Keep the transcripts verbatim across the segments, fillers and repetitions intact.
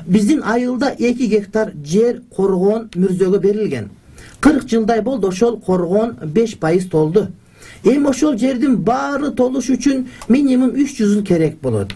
Биздин айылда эки гектар жер коргоон мүрзөгө берилген. кырк жылдай болду ошол коргоон беш пайыз толду. Эми ошол жердин баары толуш үчүн минимум үч жүз жыл керек болот.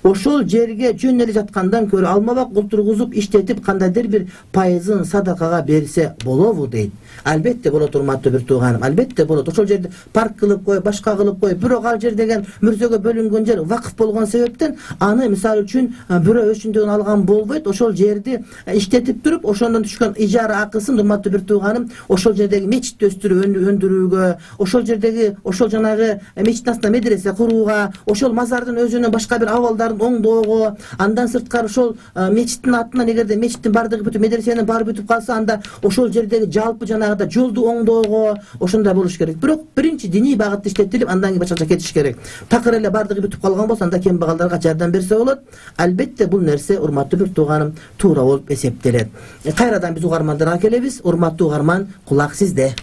Ошол жерге жөн эле жаткандан көрө алмабак култургузуп иштетип кандайдыр бир пайызын садакага берсе болобу дейт. Албетте болот, урматтуу бир тууганым, албетте болот. Ошол жерди парк кылып коюп, башка кылып коюп, бирок ал жер деген мүрзөгө бөлүнгөн жер вакыф болгон себептен аны мисалы үчүн бирөө өчүндөгүн алган болбойт. Ошол жерди иштетип туруп, ошондон түшкөн ижара акысын урматтуу бир тууганым, ошол жердеги мечитти өстүрүп өндүрүүгө, ошол жердеги ошол жанагы мечиттин астына медресе курууга, ошол мазардын өзүнө башка бир абалдарын оңдоого, андан сырткары ошол мечиттин атынан эгерде мечиттин бардыгы бүтүп, медресенин баары бүтүп калса, анда ошол жердеги жалпы жанагыда жолду оңдоого ошондой болуш керек. Бирок биринчи диний багытта иштетилип, андан кийин башкача кетиш керек. Такыр эле бардыгы бүтүп калган болсо, анда кембагалдарга жардам берсе болот. Албетте бул нерсе урматтуу бир тууганым туура болуп эсептелет. Кайрадан биз угармандарга келебиз. Урматтуу угарман, кулак сизде.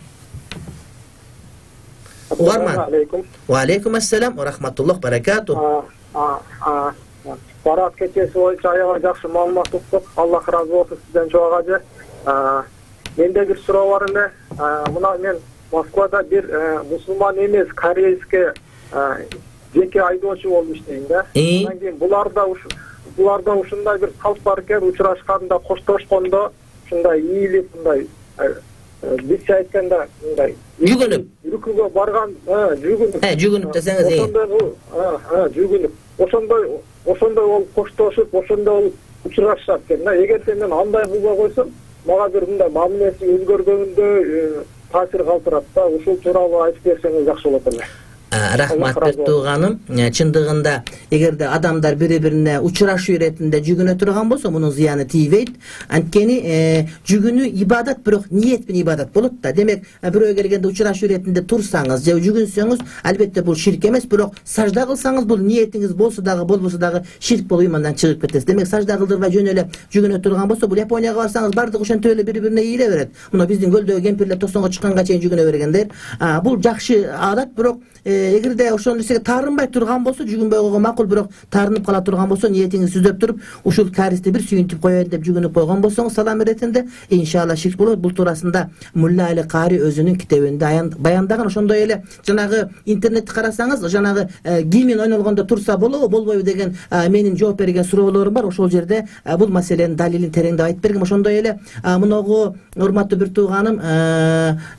Угарман. Ва алейкум ассалам ва рахматуллах баракату. Барат кечеси боюнча аябай жакшы маалымат уктук. Аллах ыраазы болсун сизден жок ажы. Менде бир суроо бар эле. Мына мен Москвада бир мусулман эмес корейский жеке айдоочу болуп иштейм да. Андан кийин буларда буларда ушундай бир салт бар экен, учурашканда, коштошкондо ушундай ийилип, мындай бизче айтканда мындай жүгүнүп, үркүгө барган, жүгүнүп. Э, жүгүнүп десеңиз, э. Ошондой, а, жүгүнүп. Ошондой, ошондой болуп коштошуп, ошондой болуп учурашат экен да. Эгерде мен андай кылбай койсом, мага бир мындай мамилеси өзгөргөнүндөй таасир калтырат да. Ушул тууралуу айтып берсеңиз жакшы болот эле. Рахмат бир тууганым. Чындыгында эгерде адамдар бири-бирине учурашуу иретинде жүгүнө турган болсо, мунун зыяны тийбейт. Анткени жүгүнүү ибадат, бирок ниет менен ибадат болот да. Демек, бирөө келгенде учурашуу иретинде турсаңыз же жүгүнсөңүз, албетте бул ширк эмес, бирок сажда кылсаңыз, бул ниетиңиз болсо дагы, болбосо дагы ширк болуп имандан чыгып кетесиз. Демек, сажда кылдырбай жөн эле жүгүнө турган болсо, бул Японияга барсаңыз, бардыгы ошентип эле бири-бирине ийиле берет. Мына биздин көлдөгү кемпирлер тосонго чыкканга чейин жүгүнө бергендер. Бул жакшы адат, бирок эгерде ошол нерсеге таарынбай турган болсо, жүгүнбөй койгон макул, бирок таарынып кала турган болсо, ниетиңизди түзөп туруп, ушул каристи бир сүйүнтүп коеюн деп жүгүнүп койгон болсоңуз, салам иретинде, иншалла ширк болот. Бул туурасында Мулла Али Кари өзүнүн китебинде баяндаган. Ошондой эле жанагы интернетти карасаңыз, жанагы гимн ойнолгондо турса болобу, болбойбу деген менин жооп берген суроолорум бар. Ошол жерде бул маселенин далилин тереңдеп айтып бергем. Ошондой эле муногу урматтуу бир тууганым,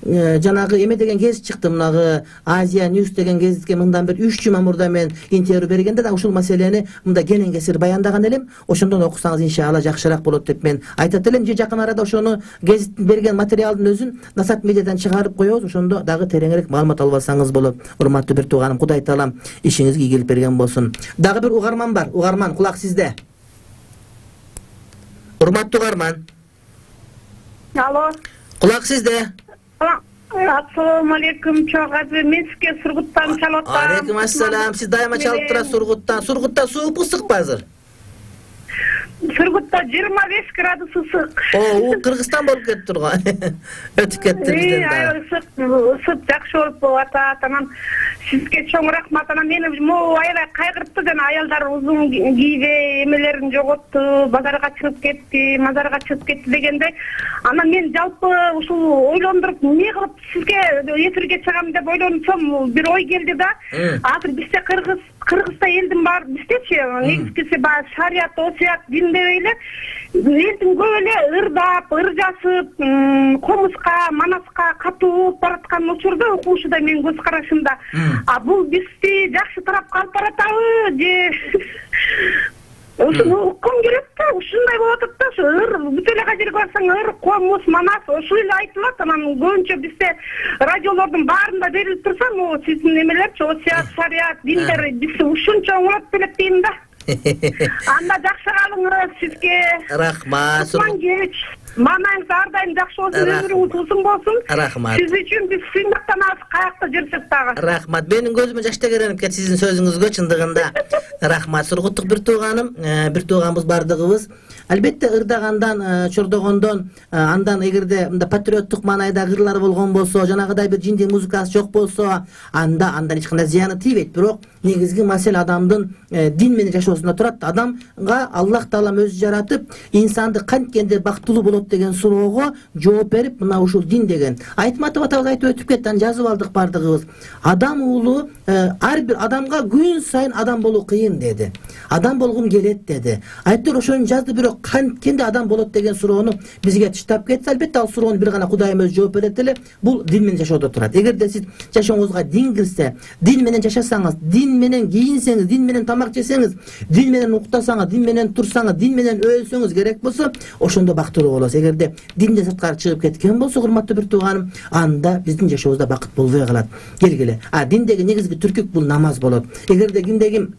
жанагы эме деген гезит чыкты, мунагы Азия News деген гезитке мындан бир үч жума мурда мен интервью бергенде да ушул маселени мында кенен кесир баяндаган элем. Ошондон окусаңыз иншалла жакшыраак болот деп мен айтат элем. Же жакын арада ошону гезиттин берген материалдын өзүн Насат медиадан чыгарып коебуз. Ошондо дагы тереңирээк маалымат алып алсаңыз болот. Урматтуу бир тууганым, Кудай таалам ишиңизге ийгилик берген болсун. Дагы бир угарман бар. Угарман, кулак сизде. Урматтуу угарман. Алло. Кулак сизде. Ассаламу алейкум, чоң ажы. Мен сизге Сургуттан чалып атам. Алейкум ассалам. Сиз дайыма чалып турасыз Сургуттан. Сургутта сууппу, ысыкпы азыр? Сургутта жыйырма беш градус ысык. О, бул Кыргызстан болуп кетип турган. Өтүп кетти бизден да. Ысык, ысык жакшы болуп атат. Анан сизге чоң рахмат. Анан мени могу аябай кайгыртты, жана аялдар узун кийбей эмелерин жоготту, базарга чыгып кетти, мазарга чыгып кетти дегендей. Анан мен жалпы ушул ойлондуруп, эмне кылып сизге эфирге чыгам деп ойлонсом, бир ой келди да. Азыр бизде Кыргыз Кыргызда элдин баары биздечи негизгиси баягы шарият, осуят, дин деп эле элдин көп эле ырдап, ыр жасып, комузга, манаска катуу болуп бараткан учурда окуушуда менин көз карашымда. А бул бизди жакшы тарапка алып баратабы же ушуну уккум келет да, ушундай болуп атат да. Ушу ыр бүт эле кай жерге барсаң ыр, комуз, манас ушул эле айтылат. Анан көбүнчө бизде радиолордун баарында берилип турса, могу сиздин эмелерчи, осуят, шариат, диндер бизди ушунча оңолот белек дейм да. Анда жакшы калыңыз, сизге рахмат. Маанайыңыз ар дайым жакшы болсун, өмүрүңүз узун болсун. Рахмат. Сиз үчүн биз сыймактанабыз, каякта жүрсөк дагы. Рахмат. Менин көзүмө жаш тегеренип кетти сиздин сөзүңүзгө, чындыгында. Рахмат. Сургуттук бир тууганым, бир тууганбыз бардыгыбыз. Албетте ырдагандан, чордогондон, андан эгерде мындай патриоттук маанайда ырлар болгон болсо, жанагыдай бир жиндей музыкасы жок болсо, анда андан эч кандай зыяны тийбейт. Бирок негизги маселе адамдын дин менен жашоосунда турат. Адамга Аллах Таалам өзү жаратып, инсанды канткенде бактылуу болот деген суроого жооп берип, мына ушул дин деген. Айтматов атабыз айтып өтүп кетти, аны жазып алдык бардыгыбыз. Адам уулу ар бир адамга күн сайын адам болуу кыйын деди. Адам болгум келет деди. Айтыр ошону жазды, бирок канткенде адам болот деген суроону бизге таштап кетти. Албетте ал суроону бир гана Кудайым өзү жооп берет эле. Бул дин менен жашоодо турат. Эгерде сиз жашооңузга дин кирсе, дин менен жашасаңыз, дин менен кийинсеңиз, дин менен тамак жесеңиз, дин менен уктасаңыз, дин менен турсаңыз, дин менен өлсөңүз керек болсо, ошондо бактылуу болосуз. Эгерде динден сырткары чыгып кеткен болсо, урматтуу бир тууганым, анда биздин жашообузда бакыт болбой калат. Келгиле. А диндеги негизги түркүк бул намаз болот. Эгерде кимде ким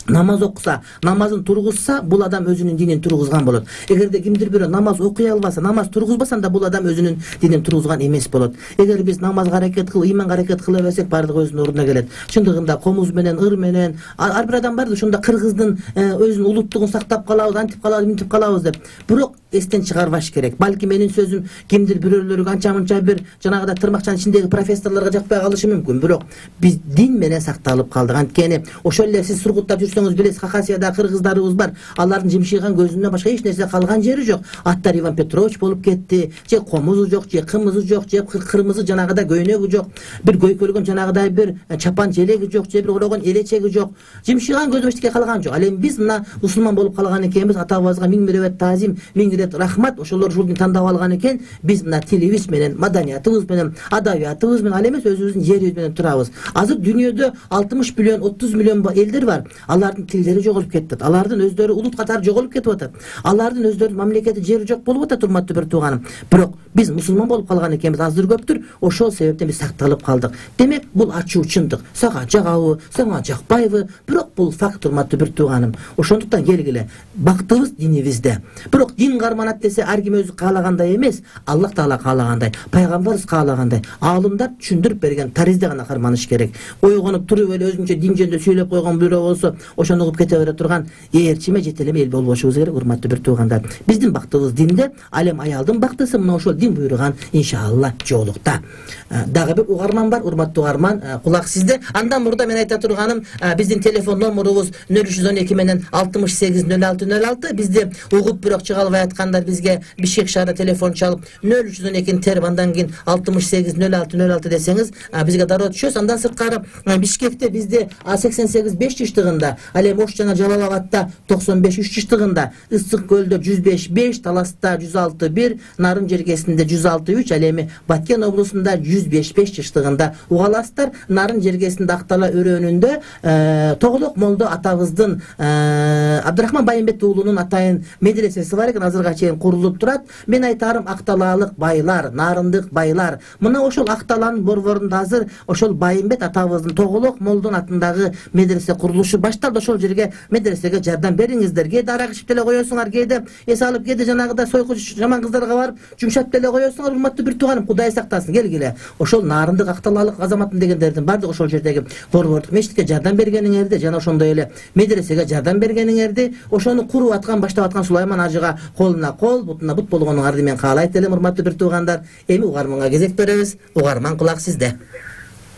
намаз окуса, намазын тургузса, бул адам өзүнүн динин тургузган болот. Эгерде кимдир бирөө намаз окуй албаса, намаз тургузбаса, анда бул адам өзүнүн динин тургузган эмес болот. Эгер биз намазга аракет кылып, иманга аракет кыла берсек, бардыгы өзүнүн ордуна келет. Чындыгында комуз менен, ыр менен, ар бир адам бар, ошондо кыргыздын өзүнүн улуттугун сактап калабыз, антип калабыз, мынтип калабыз деп. Бирок эстен чыгарбаш керек. Балки менин сөзүм кимдир бирөөлөргө анча-мынча бир жанагыда тырмакчанын ичиндеги профессорлорго жакпай калышы мүмкүн. Бирок биз дин менен сакталып калдык. Анткени ошол эле сиз Сургуттап жүрсөңүз билесиз, Хакасияда кыргыздарыбыз бар. Алардын жимшыйган көзүнөн башка эч нерсе калган жери жок. Аттар Иван Петрович болуп кетти. Же комузу жок, же кымызы жок, же кырмызы жанагыда көйнөгү жок. Бир көйкөлгөн жанагыдай бир чапан желеги жок, же бир орогон элечеги жок. Жимшыйган көзү эчтеке калган жок. Ал эми биз мына мусулман болуп калган экенбиз. Атабызга миң миребет таазим, миң рет рахмат. Ошолор ушул дин тандап алган экен. Биз мына тилибиз менен, маданиятыбыз менен, адабиятыбыз менен, ал эмес өзүбүздүн жерибиз менен турабыз. Азыр дүйнөдө алтымыш миллион, отуз миллион элдер бар. Алардын тилдери жоголуп кетти. Алардын өздөрү улут катары жоголуп кетип атат. Алардын өздөрүнүн мамлекети, жери жок болуп атат, урматтуу бир тууганым. Бирок биз мусулман болуп калган экенбиз, аздыр көптүр. Ошол себептен биз сакталып калдык. Демек, бул ачуу чындык. Сага жагабы, сага жакпайбы, бирок бул факт, урматтуу бир тууганым. Ошондуктан келгиле, бактыбыз динибизде. Бирок дин карманат десе, ар ким өзү каалагандай эмес, Аллах Таала каалагандай, пайгамбарыбыз каалагандай, аалымдар түшүндүрүп берген таризде гана карманыш керек. Ойгонуп туруп эле өзүнчө дин жөнүндө сүйлөп койгон бирөө болсо, ошону угуп кете бере турган ээрчиме жетелеме эл болбошубуз керек, урматтуу бир туугандар. Биздин бактыбыз динде, ал эми аялдын бактысы мына ошол дин буйруган иншалла жоолукта. Дагы бир угарман бар, урматтуу угарман, кулак сизде. Андан мурда мен айта турганым, биздин телефон номурубуз нөл үч жүз он эки менен алтымыш сегиз нөл алты нөл алты. Бизди угуп бирок чыга албай аткандар бизге Бишкек шаарда телефон чалып нөл үч жүз он экини терип, андан кийин алтымыш сегиз нөл алты нөл алты десеңиз, бизге дароо түшөсүз. Андан сырткары Бишкекте бизде сексен сегиз беш жыштыгында, ал эми Ош жана Жалал Абадта токсон беш үч жыштыгында, Ысык көлдө жүз беш беш, Таласта жүз алты бир, Нарын жергесинде жүз алты үч, ал эми Баткен облусунда жүз беш беш жыштыгында угаласыздар. Нарын жергесинде Актала өрөөнүндө Тоголок молдо атабыздын Абдырахман Байымбет уулунун атайын медресеси бар экен, азырга чейин курулуп турат. Мен айтарым, Акталаалык байлар, нарындык байлар, мына ошол Акталанын борборунда азыр ошол Байымбет атабыздын Тоголок молдонун атындагы медресе курулушу башталды. Ошол жерге медресеге жардам бериңиздер. Кээде арак ичип деле коесуңар, кээде эс алып, кээде жанагыдай сойку жаман кыздарга барып жумшап деле коесуңар. Урматтуу бир тууганым, Кудай сактасын. Келгиле, ошол нарындык Акталаалык азаматым дегендердин бардыгы ошол жердеги борбордук мечитке жардам бергениңерди, жана ошондой эле медресеге жардам бергениңерди, ошону куруп аткан, баштап аткан Сулайман ажыга колуна кол, бутуна бут болгонуңарды мен каалайт элем, урматтуу бир туугандар. Эми угарманга кезек беребиз. Угарман, кулак сизде.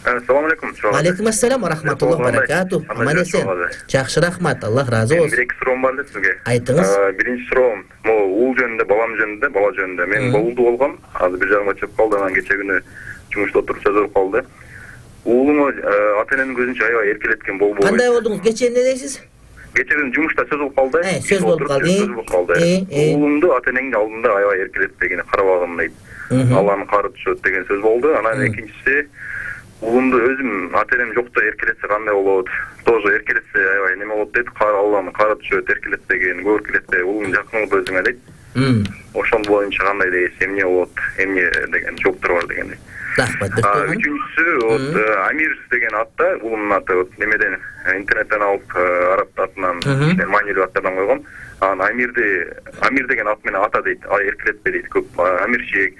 Assalamu alaikum. Алейкум ассалам ва рахматуллахи ва баракату. Аман эсен. Жакшы, рахмат. Аллах разы болсун. Бир эки суроом бар эле сизге. Айтыңыз. Биринчи суроом, могу уул жөнүндө, балам жөнүндө, бала жөнүндө. Мен боолду болгом, азыр бир жарымга чыгып калды, анан кече күнү жумушта отуруп сөз болуп калды. Уулуңу ата эненин көзүнчө аябай эркелеткен болбойбу? Кандай болдуңуз? Кече эмне дейсиз? Кече күнү жумушта сөз болуп калды. Э, сөз болуп калды. Сөз болуп калды. Уулуңду ата энеңдин алдында аябай эркелетпегени карабагым дейт. Алланын кары түшөт деген сөз болду. Анан экинчиси, уулумду өзүм ата энем жокто эркелетсе кандай болот? Тоже эркелетсе аябай неме болот дейт. Алланын кары түшөт, эркелетпеген, көп эркелетпей, уулуң жакын болуп өзүңө дейт. Ошол боюнча кандай дейсиз? Эмне болот? Эмне деген жооптор бар дегендей. Рахмат. Үчүнчүсү вот Амир деген атта, улумдун аты вот немеден интернеттен алып араб атынан маанилүү аттардан койгом. Анан Амирди Амир деген ат менен ата дейт, эркелетпе дейт көп. Амирчик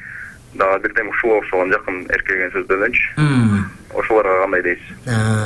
дагы бирдем ушуга окшогон жакын эркелеген сөздөрдөнчү. Ошолорго кандай дейсиз?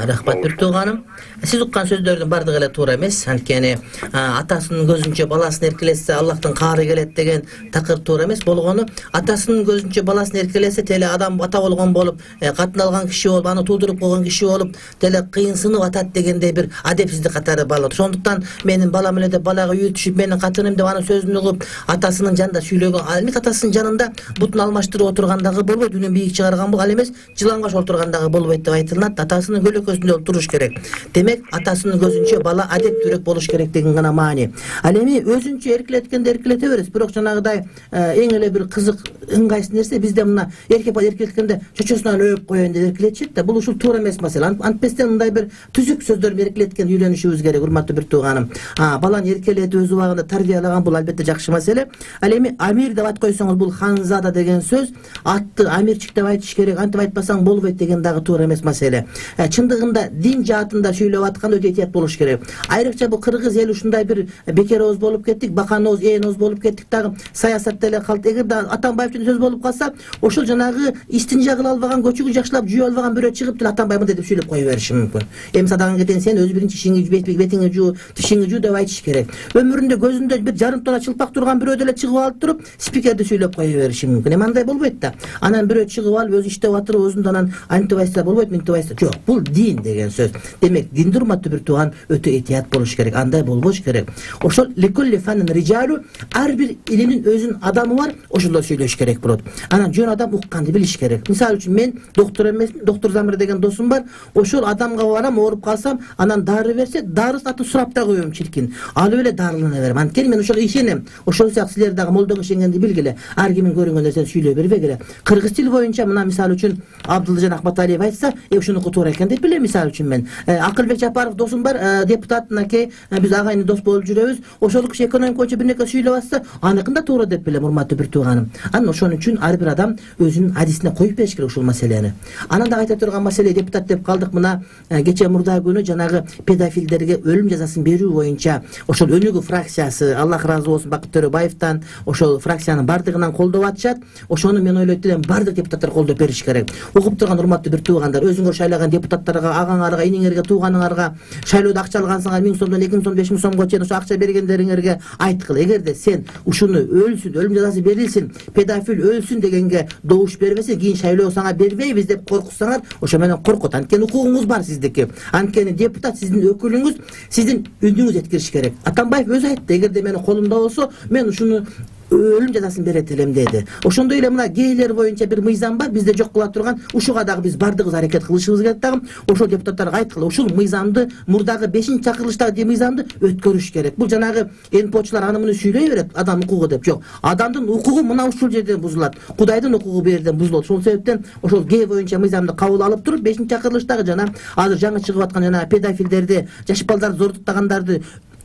Рахмат бир тууганым. Сиз уккан сөздөрдүн бардыгы эле туура эмес. Анткени атасынын көзүнчө баласын эркелетсе Аллахтын каары келет деген такыр туура эмес. Болгону атасынын көзүнчө баласын эркелесе теле адам ата болгон болуп, катын алган киши болуп, аны туудуруп койгон киши болуп, теле кыйынсынып атат дегендей бир адепсиздик катары балат. Ошондуктан менин балам эле деп балага үйүтүшүп, менин катыным деп анын сөзүн угуп, атасынын жанында сүйлөгөн, ал эмес атасынын жанында бутун алмаштырып отургандагы болбойт, үнүн бийик чыгарган бул, ал эмес жылаңгаш отургандагы болбойт деп айтылат. Атасынын көлөкөсүндө болуп туруш керек. Демек, атасынын көзүнчө бала адептүүрөөк болуш керек деген гана маани. Ал эми өзүнчө эркелеткенде эркелете беребиз, бирок жанагыдай эң эле бир кызык ыңгайсыз нерсе бизде мына эркек бала эркелеткенде чочосунан өп коеюн деп эркелетишет да, бул ушул туура эмес маселе. Антпестен мындай бир түзүк сөздөр менен эркелеткен үйрөнүшүбүз керек, урматтуу бир тууганым. Баланы эркелетип өз убагында тарбиялаган бул албетте жакшы маселе. Ал эми Амир деп ат койсоңуз, бул ханзада деген сөз, атты Амирчик деп айтыш керек, антип айтпасаң болбойт деген дагы туура эмес маселе. Чындыгында дин жаатында сүйлөп атканда өтө этият болуш керек. Айрыкча бул кыргыз эл ушундай бир бекероз болуп кеттик, баканоз, ээноз болуп кеттик дагы, саясатта эле калды. Эгер да Атамбаевчун сөз болуп калса, ошол жанагы истинжа кыла албаган, көчүгү жакшылап жууя албаган бирөө чыгып деле Атамбай мындай деп сүйлөп кое бериши мүмкүн. Эми садаган кетен сен өз биринчи ишиңи бетиңи жуу, тишиңи жуу деп айтыш керек. Өмүрүндө көзүндө бир жарым тонна чылпак турган бирөө деле чыгып алып туруп, спикерди сүйлөп кое бериши мүмкүн. Эми андай болбойт да. Анан бирөө чыгып алып өзү иштеп атырып, өзүндө анан антип айтса болбойт, мынтип айтса. Жок, бул дин деген сөз. Демек, динди урматтуу бир тууган өтө этият болуш керек. Андай болбош керек. Ошол ликулли фанын рижалу, ар бир илимдин өзүнүн адамы бар, ошондой сүйлөш керек болот. Анан жөн адам укканды билиш керек. Мисалы үчүн мен доктор эмесмин, доктор Замир деген досум бар. Ошол адамга барам, ооруп калсам, анан дары берсе, дарысын атын сурап да коем чиркин. Алып эле дарылана берем. Анткени мен ошого ишенем. Ошол сыяктуу силер дагы молдого ишенгенди билгиле. Ар кимдин көрүнгөн нерсени сүйлөй бербегиле. Кыргыз тил боюнча мына мисалы үчүн Абдылжан Ахматалиев айтса, э ушунуку туура экен деп билем. Мисалы үчүн мен Акылбек Жапаров досум бар, депутат, мынакей биз агайын дос болуп жүрөбүз. Ошол киши экономика боюнча бир нерсе сүйлөп атса, аныкын да туура деп билем, урматтуу бир тууганым. Анан ошон үчүн ар бир адам өзүнүн адисине коюп бериш керек ушул маселени. Анан да айта турган маселе, депутат деп калдык, мына кече мурда күнү жанагы педофилдерге өлүм жазасын берүү боюнча ошол өнүгүү фракциясы, Аллах ыраазы болсун, Бакыт Төрөбаевден ошол фракциянын бардыгынан колдоп атышат. Ошону мен ойлойт элем, бардык депутаттар колдоп бериш керек. Угуп турган урматтуу бир туугандар, өзүңөр шайлаган депутаттарга, агаңарга, иниңерге, тууганыңарга шайлоодо акча алгансыңар, миң сомдон эки миң сом, беш миң сомго чейин ошо акча бергендериңерге айткыла. Эгерде сен ушуну өлсүн, өлүм жазасы берилсин, педофил өлсүн дегенге добуш бербесе, кийин шайлоо сага бербейбиз деп коркутсаңар, ошо менен коркот. Анткени укугуңуз бар сиздики. Анткени депутат сиздин өкүлүңүз, сиздин үнүңүз жеткириш керек. Атамбаев өзү айтты, эгерде менин колумда болсо, мен ушуну өлүм жазасын берет элем деди. Ошондой эле мына гейлер боюнча бир мыйзам бар, бизде жок кыла турган. Ушуга дагы биз бардыгыбыз аракет кылышыбыз керек дагы. Ошол депутаттарга айткыла, ушул мыйзамды, мурдагы бешинчи чакырылыштагы мыйзамды өткөрүш керек. Бул жанагы эн почулар аны муну сүйлөй берет, адам укугу деп. Жок, адамдын укугу мына ушул жерден бузулат. Кудайдын укугу бу жерден бузулат. Ошол себептен ошол гей боюнча мыйзамды кабыл алып туруп, бешинчи чакырылыштагы жана азыр жаңы чыгып аткан жана педофилдерди, жаш балдарды зордуктагандарды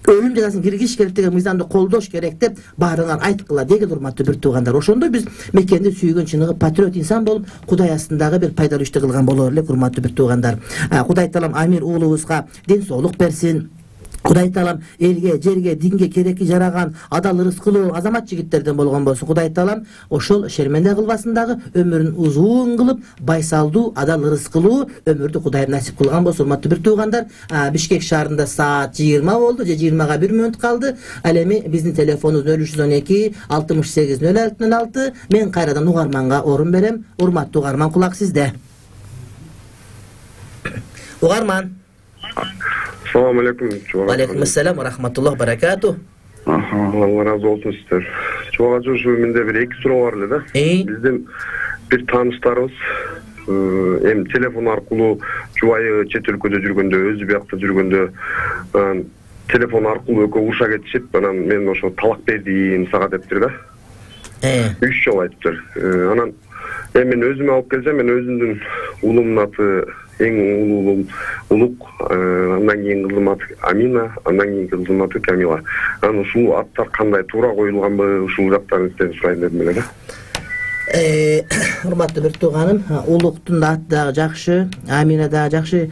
өлүм жазасын киргизиш керек деген мыйзамды колдош керек деп баарыңар айткыла деген урматтуу бир туугандар. Ошондой биз мекенди сүйгөн чыныгы патриот инсан болуп, Кудай астындагы бир пайдалуу ишти кылган болор элек, урматтуу бир туугандар. Кудай таалам Амир уулубузга ден соолук берсин. Кудай таалам элге, жерге, динге керекти жараган адал ырыскылуу азамат жигиттерден болгон болсун. Кудай таалам ошол шерменде кылбасын дагы, өмүрүн узун кылып, байсалдуу, адал ырыскылуу өмүрдү Кудай насип кылган болсун. Урматтуу бир туугандар, Бишкек шаарында саат жыйырма болду, же жыйырмага бир мүнөт калды. Ал эми биздин телефонубуз нөл үч жүз он эки алтымыш сегиз нөл алты нөл алты. Мен кайрадан угарманга орун берем. Урматтуу угарман, кулак сизде. Угарман. Assalamu alaikum. Wa alaikum assalam wa rahmatullohi barakatuh. Allah razı olsun sizler. Çoğu şu mende bir iki soru var da. Bizden bir tanışlarımız hem telefon arkalı çuvayı çet ülkede жүргөндө, özü biyakta жүргөндө telefon arkalı öke uşa geçip bana men oşo talak berdiğim sağa deptir da. Üç jol ayttılar. Anan men özüme alıp gelsem, men özümdün ulumun atı eң улуу улук, андан кийин кызым аты Амина, андан кийин кызым аты Камила. Анан ушул аттар кандай туура коюлганбы, ушул жактарын сизден сурайын дедим эле да. урматтуу бир тууганым, улуктун аты дагы жакшы, Амина дагы жакшы,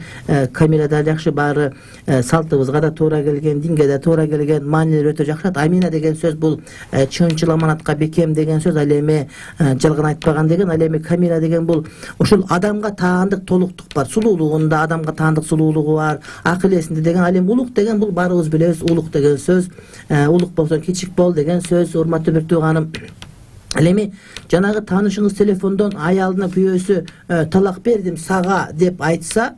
Камила дагы жакшы, баары салтыбызга да туура келген, динге да туура келген, маанилери өтө жакшы. Амина деген сөз бул чынчыл аманатка бекем деген сөз, ал эми жалган айтпаган деген, ал эми Камила деген бул ошол адамга таандык толуктук бар, сулуулугунда адамга таандык сулуулугу бар, акыл эсинде деген. Ал эми улук деген бул баарыбыз билебиз, улук деген сөз, улук болсоң кичик бол деген сөз. Урматтуу бир тууганым, ал эми жанагы таанышыңыз телефондон аялына күйөөсү талак бердим сага деп айтса,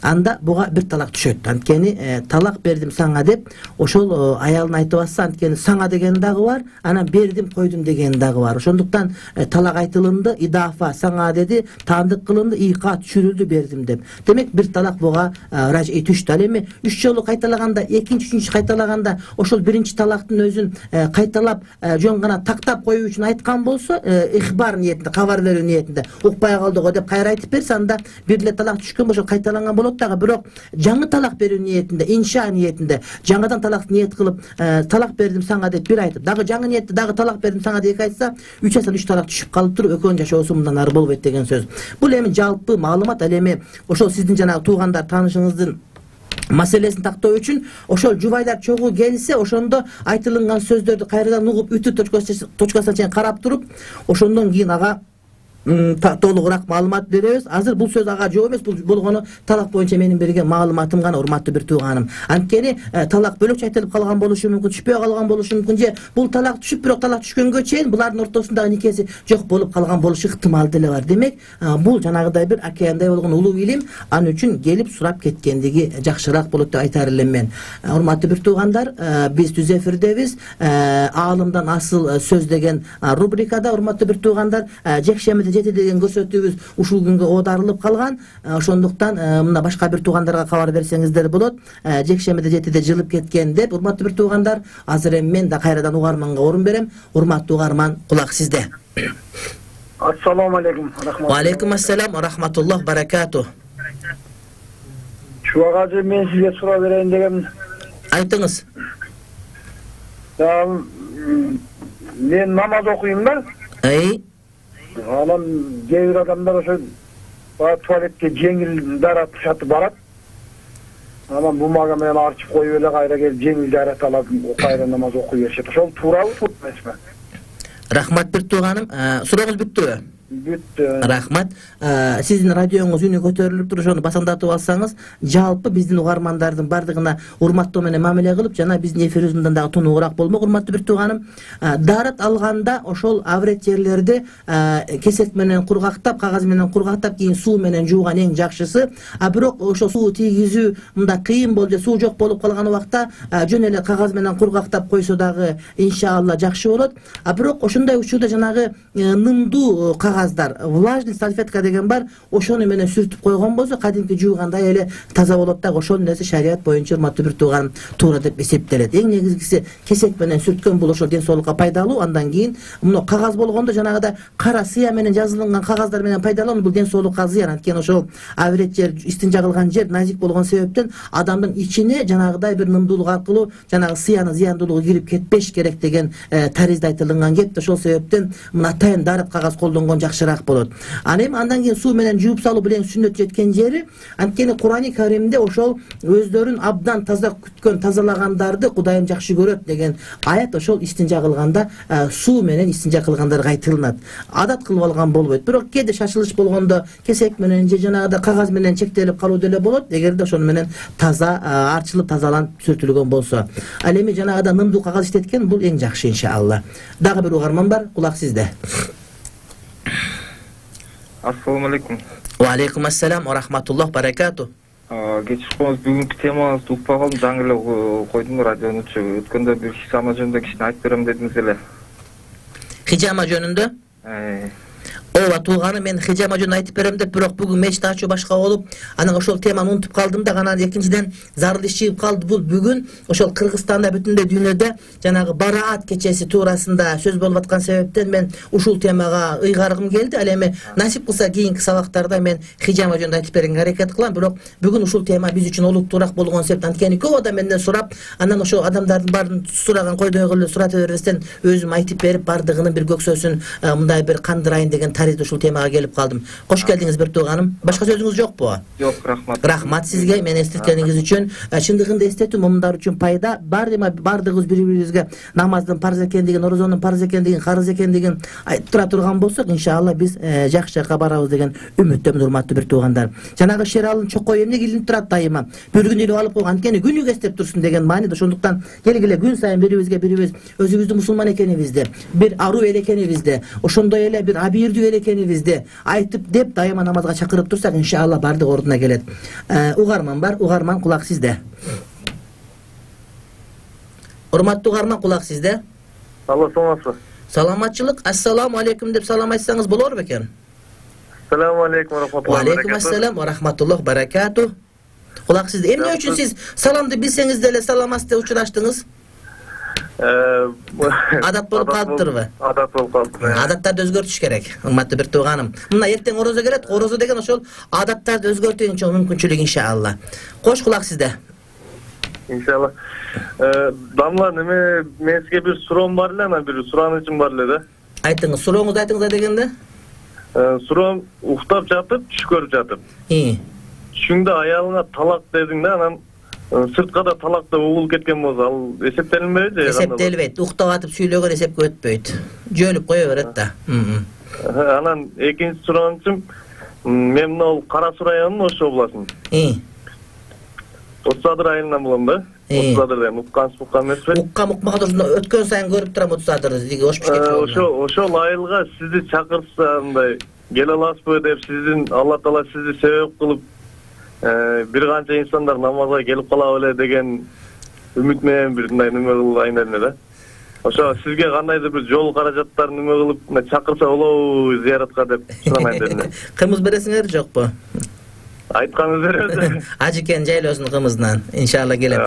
анда буга бир талак түшөт. Анткени талак бердим сага деп ошол аялына айтып атса, анткени сага деген дагы бар, анан бердим койдум деген дагы бар. Ошондуктан талак айтылынды, идафа сага деди, таандык кылынды, ийка түшүрүлдү бердим деп. Демек бир талак буга ражий түштү. Ал эми үч жолу кайталаганда, экинчи, үчүнчү кайталаганда ошол биринчи талактын өзүн кайталап жөн гана тактап коюу үчүн айткан болсо, ихбар ниетинде, кабар берүү ниетинде, укпай калдыго деп кайра айтып берсе, анда бир эле талак түшкөн болсо кайталанган болот дагы. Бирок жаңы талак берүү ниетинде, инша ниетинде жаңыдан талак ниет кылып, талак бердим сага деп бир айтып, дагы жаңы ниетте дагы талак бердим сага деп эки айтса, үч айдан үч талак түшүп калып туруп, экөөнүн жашоосу мындан ары болбойт деген сөз. Бул эми жалпы маалымат. Ал эми ошол сиздин жанагы туугандар, таанышыңыздын маселесин тактоо үчүн ошол жубайлар чогуу келсе, ошондо айтылган сөздөрдү кайрадан угуп, үтү точкасына чейин карап туруп, ошондон кийин ага толугураак маалымат беребиз. Азыр бул сөз ага жооп эмес, бул болгону талак боюнча менин берген маалыматым гана, урматтуу бир тууганым. Анткени талак бөлөкчө айтылып калган болушу мүмкүн, түшпөй калган болушу мүмкүн, же бул талак түшүп, бирок талак түшкөнгө чейин булардын ортосундагы никеси жок болуп калган болушу ыктымал деле бар. Демек, бул жанагыдай бир океандай болгон улуу илим, ал үчүн келип сурап кеткендиги жакшыраак болот деп айтар элем мен. Урматтуу бир туугандар, биз түз эфирдебиз. Аалымдан асыл сөз деген рубрикада, урматтуу бир туугандар, жекшемиде жети деген көрсөтүүбүз ушул күнгө оодарылып калган. Ошондуктан мына башка бир туугандарга кабар берсеңиздер болот. Жекшемиде жетиде жылып кеткен деп. Урматтуу бир туугандар, азыр эми мен да кайрадан угарманга орун берем. Урматтуу угарман, кулак сизде. Ассаламу алейкум. Ва алейкум ассалам ва рахматуллах баракату. Чубак ажы, мен сизге суроо берейин дегем. Айтыңыз. Мен намаз окуйм да. Ай. Анан кээ бир адамдар ошо туалетке жеңил дарат шатып барат. Анан бумага менен арчып коюп эле кайра келип жеңил дарат алып кайра намаз окуй беришет. Ошол туурабы, туура эмеспи? Рахмат бир тууганым. Сурооңуз бүттүбү? Бүттү. Рахмат. Сиздин радионуз үнү көтөрүлүп туруп, ошону басаңдатып алсаңыз, жалпы биздин угармандардын бардыгына урматтоо менен мамиле кылып, жана биздин эфирибиз мындан дагы тунугураак болмок. Урматтуу бир тууганым, дарат алганда ошол аврет жерлерди кесек менен кургактап, кагаз менен кургактап, кийин суу менен жууган эң жакшысы. А бирок ошол суу тийгизүү мында кыйын болду, суу жок болуп калган убакта жөн эле кагаз менен кургактап койсо дагы иншалла жакшы болот. А бирок ошондой учурда жанагы нымдуу кагаз, влажный салфетка деген бар, ошону менен сүртүп койгон болсо, кадимки жуугандай эле таза болот да. Ошол нерсе шарият боюнча, урматтуу бир тууганым, туура деп эсептелет. Эң негизгиси кесек менен сүрткөн бул ошол ден соолукка пайдалуу. Андан кийин мына кагаз болгондо жанагыда кара сыя менен жазылган кагаздар менен пайдалануу, бул ден соолукка зыян. Анткени ошол аврет жер, истинжа кылган жер назик болгон себептен адамдын ичине жанагыдай бир нымдуулук аркылуу жанагы сыянын зыяндуулугу кирип кетпеш керек деген таризде айтылган кеп. Ошол себептен мына атайын дарат кагаз колдонгон жакшыраак болот. Аны эми андан кийин суу менен жууп салуу билен сүннөт жеткен жери, анткени Курани Каримде ошол өздөрүн абдан таза күткөн, тазалагандарды Кудайым жакшы көрөт деген аят ошол истинжа кылганда суу менен истинжа кылгандарга айтылынат. Адат кылып алган болбойт. Бирок кээде шашылыш болгондо кесек менен же жанагыда кагаз менен чектелип калуу деле болот, эгерде ошону менен таза арчылып тазаланып сүртүлгөн болсо. Ал эми жанагыда нымдуу кагаз иштеткен, бул эң жакшы иншалла. Дагы бир угарман бар, кулак сизде. Ассаламу алейкум. Ва алейкум ассалам ва рахматуллах баракату. Кечип коңуз, бүгүнкү темаңызды укпай калдым, жаңы эле койдум радионучу. Өткөндө бир хижама жөнүндө кичине айтып берем дедиңиз эле. Хижама жөнүндө? Ооба тууганы, мен хижама жөн айтып берем деп, бирок бүгүн мечти ачуу башка болуп, анан ошол теманы унутуп калдым да, анан экинчиден зарыл иш чыгып калды. Бул бүгүн ошол Кыргызстанда, бүтүндөй дүйнөдө жанагы Бараат кечеси туурасында сөз болуп аткан себептен мен ушул темага ыйгаргым келди. Ал эми насип кылса кийинки сабактарда мен хижама жөнүндө айтып бергенге аракет кылам, бирок бүгүн ушул тема биз үчүн олуттуураак болгон себептен, анткени көп адам менден сурап, анан ошол адамдардын баарын сураган койдой эле сурата бербестен өзүм айтып берип, бардыгынын бир көксөсүн мындай бир кандырайын деген ушул темага келип калдым. Кош келдиңиз бир тууганым. Башка сөзүңүз жокпу? Жок, рахмат. Рахмат сизге мени эстеткениңиз үчүн. Чындыгында эстетүү момундар үчүн пайда. Бардыма бардыгыбыз бири-бирибизге намаздын парз экендигин, орозонун парз экендигин, карыз экендигин айтып тура турган болсок, иншалла биз жакшы жакка барабыз деген үмүттөмүн, урматтуу бир туугандар. Жанагы Шералдын чокой эмне илинип турат дайыма. Бир күн илип алып койгон, анткени күнүгө эстеп турсун деген мааниде. Ошондуктан келгиле күн сайын бирибизге бирибиз өзүбүздүн мусулман экенибизди, бир аруу эл экенибизди, ошондой эле бир абийирдүү эл экенибизди айтып деп дайыма намазга чакырып турсак, иншалла бардык ордуна келет. Угарман бар, угарман кулак сизде. Урматтуу угарман, кулак сизде. Алло, саламатсызбы? Саламатчылык. Ассаламу алейкум деп салам айтсаңыз болор бекен? Ассаламу алейкум ва рахматуллахи ва баракатух. Алейкум ассалам ва рахматуллахи ва баракатух. Кулак сизде. Эмне үчүн сиз саламды билсеңиз деле саламатсызбы учураштыңыз? Адат болуп калыптырбы? Адат болуп калыптыр. Адаттарды өзгөртүш керек, урматтуу бир тууганым. Мына эртең орозо келет, орозо деген ошол адаттарды өзгөртүүнчө мүмкүнчүлүк иншалла. Кош, кулак сизде. Иншалла. Дамла, неме мен сизге бир суроом бар эле, анан бир суранычым бар эле да. Айтыңыз, сурооңузду айтыңыз дегенде? Суроом, уктап жатып, түш көрүп жатып. И. Түшүңдө аялыңа талак дедиң да, анан сыртка да талакта угулуп кеткен болсо, ал эсептелинбейби же? Эсептелбейт. Уктап атып сүйлөгөн эсепке өтпөйт. Жөлүп кое берет да. Анан экинчи суроончум, мен мына Кара Суу районунун Ош областынын. И. Отсадыр айылынан болом да. Отсадыр деген уккан суккан эмеспи? Уккан укмага турсун өткөн сайын көрүп турам Отсадыр, диги Ош бишкек жолунан. Ошо ошол айылга сизди чакырса, андай келе аласызбы деп, сиздин Алла Таала сизди себеп кылып бир канча инсандар намазга келип кала беле деген үмүт менен бир мындай неме кылайын эле да. Ошо сизге кандайдыр бир жол каражаттарын неме кылып чакырса болобу зияратка деп суранайын дедим. Кымыз бересиңер жокпу? Айтканыңыз беребиз. Ажыкен жайлоосун кымызынан иншалла келем.